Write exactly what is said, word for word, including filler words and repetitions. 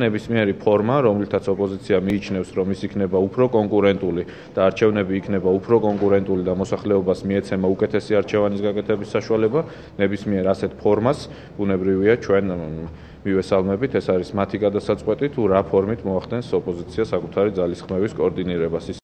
ნებისმიერი ფორმა, რომლითაც ოპოზიცია მიიჩნევს, რომ ის იქნება უფრო კონკურენტული და არჩევნები იქნება უფრო კონკურენტული და მოსახლეობას მიეცემა უკეთესი არჩევანის გაკეთების საშუალება, ნებისმიერ ასეთ ფორმას ბუნებრივია ჩვენ მივესალმებით, ეს არის მათი გადასაწყვეტი თუ რა ფორმით მოახდენს ოპოზიცია საკუთარი ძალისხმევის კოორდინირებას.